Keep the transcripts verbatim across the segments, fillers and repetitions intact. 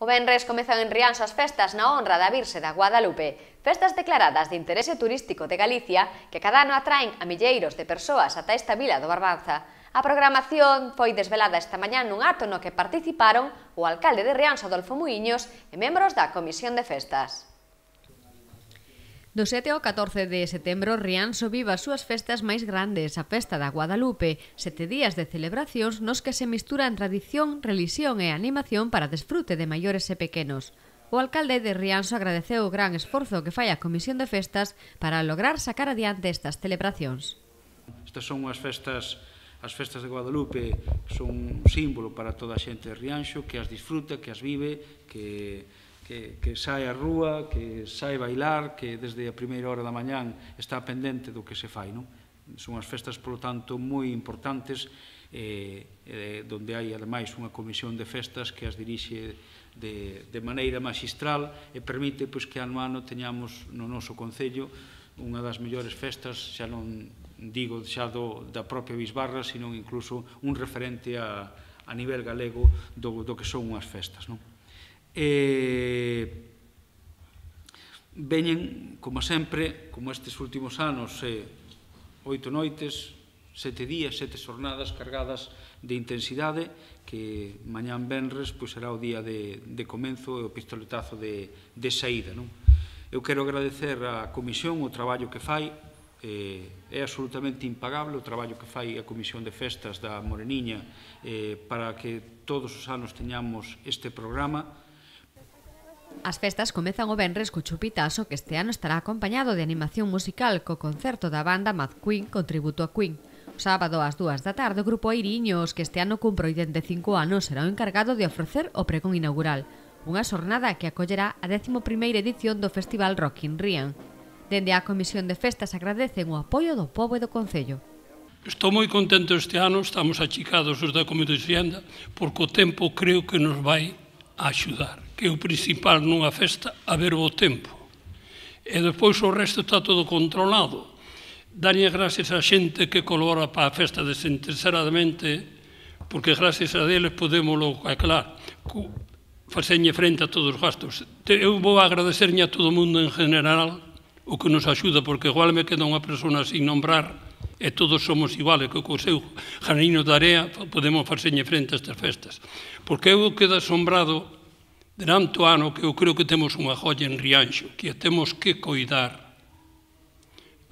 O venres comezan en Rianxo as festas na honra da Virxe da Guadalupe, festas declaradas de interese turístico de Galicia que cada ano atraen a milleiros de persoas ata esta vila do Barbanza. A programación foi desvelada esta mañá nun acto no que participaron o alcalde de Rianxo, Adolfo Muiños, e membros da Comisión de Festas. Do sete ao catorce de setembro, Rianxo vive as súas festas máis grandes, a Festa da Guadalupe, sete días de celebracións nos que se misturan tradición, relixión e animación para desfrute de maiores e pequenos. O alcalde de Rianxo agradeceu o gran esforzo que fai a Comisión de Festas para lograr sacar adiante estas celebracións. Estas son as festas, as festas de Guadalupe, son un símbolo para toda a xente de Rianxo, que as disfruta, que as vive, que... Que, que sae á rúa, que sae bailar, que desde a primeira hora da mañán está pendente do que se fai, non? Son as festas, polo tanto, moi importantes, eh, eh, donde hai, ademais, unha comisión de festas que as dirixe de, de maneira magistral e permite pois, que ano a ano teñamos no noso concello unha das mellores festas, xa non digo xa do, da propia Bisbarra, sino incluso un referente a, a nivel galego do, do que son unhas festas, non? E veñen, como sempre, como estes últimos anos, eh, oito noites, sete días, sete xornadas cargadas de intensidade, que mañán venres pois, será o día de, de comenzo e o pistoletazo de, de saída. Non? Eu quero agradecer á Comisión o traballo que fai, eh, é absolutamente impagable o traballo que fai a Comisión de Festas da Moreniña eh, para que todos os anos teñamos este programa. As festas comezan o venres co chupitazo, que este ano estará acompañado de animación musical co concerto da banda Mad Queen con tributo a Queen. O sábado ás dúas da tarde o grupo Airiños, que este ano cumpre oitenta e cinco anos, será o encargado de ofrecer o pregón inaugural, unha xornada que acollerá a décima primeira edición do Festival Rock in Rian. Dende a Comisión de Festas agradecen o apoio do pobo e do Concello. Estou moi contento este ano, estamos achicados os da Comisión de Xenda, porque o tempo creo que nos vai a axudar, que é o principal nunha festa, a ver o tempo. E depois o resto está todo controlado. Dalle gracias a xente que colabora para a festa desinteresadamente, porque gracias a deles podemos, aclarar, facerlle frente a todos os gastos. Eu vou agradecerlle a todo o mundo en general o que nos axuda, porque igual me queda unha persona sin nombrar e todos somos iguales, que co seu granino de area podemos facerlle frente a estas festas. Porque eu quedo asombrado durante o ano que eu creo que temos unha joia en Rianxo, que a temos que coidar.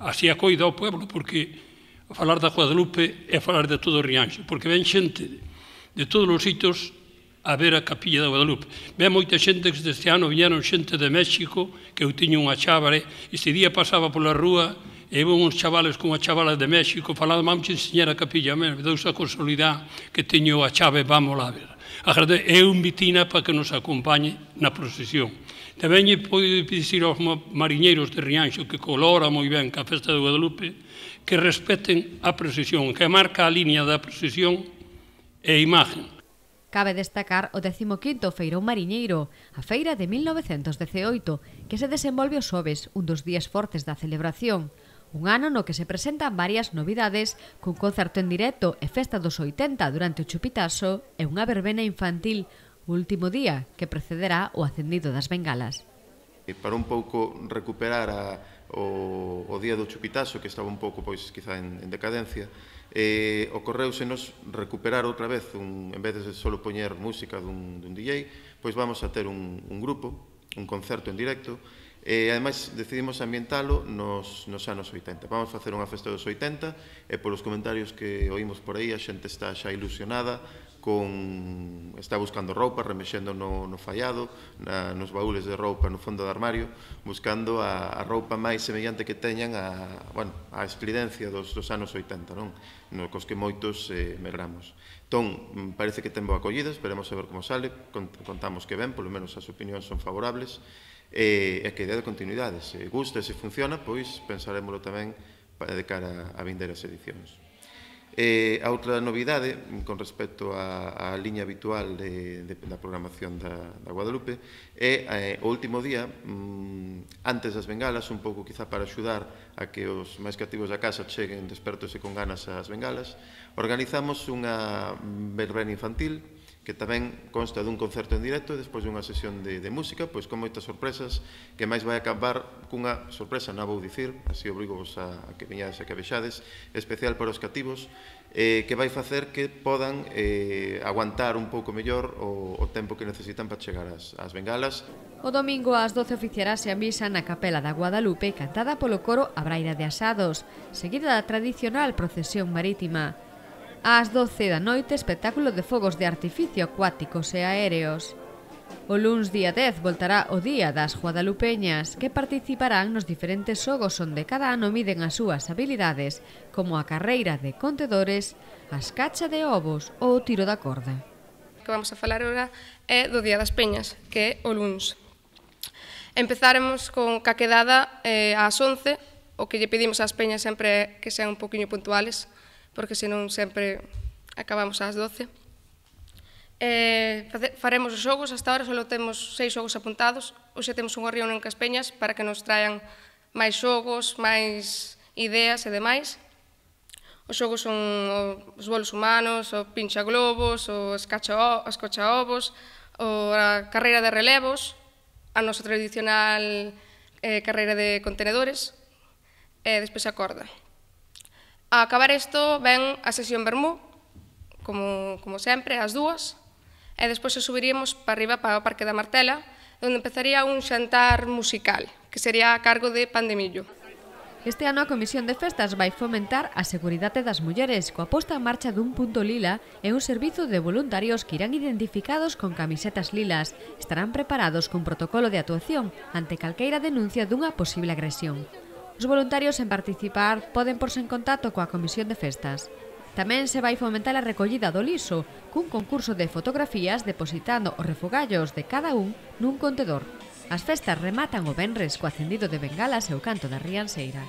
Así a coida o pueblo, porque a falar da Guadalupe é falar de todo o Rianxo, porque ven xente de todos os sitios a ver a capilla da Guadalupe. Ven moita xente que este ano viñeron xente de México, que eu tiño unha chábare, e este día pasaba pola rúa e iban uns chavales con a chavala de México falando, vamos enseñar a capilla, me dou esa consolidade que teño a chave, vamos lá ver. É un vitina para que nos acompañe na procesión. Tamén lle podo dicir aos mariñeiros de Rianxo que colora moi ben ca festa de Guadalupe que respeten a procesión, que marca a línea da procesión e a imagen. Cabe destacar o décimo quinto Feirón Mariñeiro, a feira de mil novecentos dezioito, que se desenvolve os xoves, un dos días fortes da celebración. Un ano no que se presentan varias novidades, cun concerto en directo e festa dos oitenta durante o chupitazo e unha verbena infantil, o último día que precederá o acendido das bengalas. Para un pouco recuperar a, o, o día do chupitazo, que estaba un pouco, pois, quizá en, en decadencia, eh, ocorreusenos recuperar outra vez, un, en vez de só poñer música dun, dun D J, pois vamos a ter un, un grupo, un concerto en directo, e ademais decidimos ambientalo nos, nos anos oitenta. Vamos facer unha festa dos oitenta e polos comentarios que oímos por aí a xente está xa ilusionada, con, está buscando roupa, remexendo no, no fallado, na, nos baúles de roupa no fondo do armario, buscando a, a roupa máis semellante que teñan a, bueno, a esplidencia dos, dos anos oitenta, non? No, cos que moitos eh, medramos. Entón, parece que ten boa acollida, esperemos a ver como sale, contamos que ben, polo menos as opinións son favorables, e a que idea de continuidade, se gusta e se funciona, pois pensaremoslo tamén de cara a vindeiras edicións. E a outra novidade, con respecto á liña habitual de, de, da programación da, da Guadalupe, é eh, o último día, mm, antes das bengalas, un pouco quizá para axudar a que os máis cativos da casa cheguen despertos e con ganas ás bengalas, organizamos unha verbena infantil que tamén consta dun concerto en directo e despois dunha sesión de, de música, pois con moitas sorpresas, que máis vai acabar cunha sorpresa, non vou dicir, así obrigo vos a, a que veñades e que vexades, especial para os cativos, eh, que vai facer que podan eh, aguantar un pouco mellor o, o tempo que necesitan para chegar ás, ás bengalas. O domingo ás doce oficiarase a misa na Capela da Guadalupe cantada polo coro A Braira de Asados, seguida da tradicional procesión marítima. Ás doce da noite, espectáculo de fogos de artificio acuáticos e aéreos. O luns día dez voltará o Día das Guadalupeñas, que participarán nos diferentes xogos onde cada ano miden as súas habilidades, como a carreira de contedores, a escacha de ovos ou o tiro da corda. O que vamos a falar agora é do Día das Peñas, que é o luns. Empezaremos con ca quedada eh, ás once, o que lle pedimos ás peñas sempre é que sean un poquinho puntuales, porque senón sempre acabamos ás doce. Eh, faremos os xogos, hasta ahora só temos seis xogos apuntados, hoxe temos unha reunión cas peñas para que nos traen máis xogos, máis ideas e demais. Os xogos son os bolos humanos, o pincha globos, o escacha ovos, a carreira de relevos, a nosa tradicional eh, carreira de contenedores, e despois a corda. A acabar isto ven a sesión vermú, como, como sempre, ás dúas, e despois se subiríamos para arriba para o Parque da Martela, onde empezaría un xantar musical, que sería a cargo de Pandemillo. Este ano a Comisión de Festas vai fomentar a seguridade das mulleres coa posta en marcha dun punto lila e un servizo de voluntarios que irán identificados con camisetas lilas. Estarán preparados cun protocolo de actuación ante calqueira denuncia dunha posible agresión. Os voluntarios en participar poden porse en contacto coa Comisión de Festas. Tamén se vai fomentar a recollida do liso, cun concurso de fotografías depositando os refogallos de cada un nun contedor. As festas rematan o venres co acendido de bengalas e o canto da rianseira.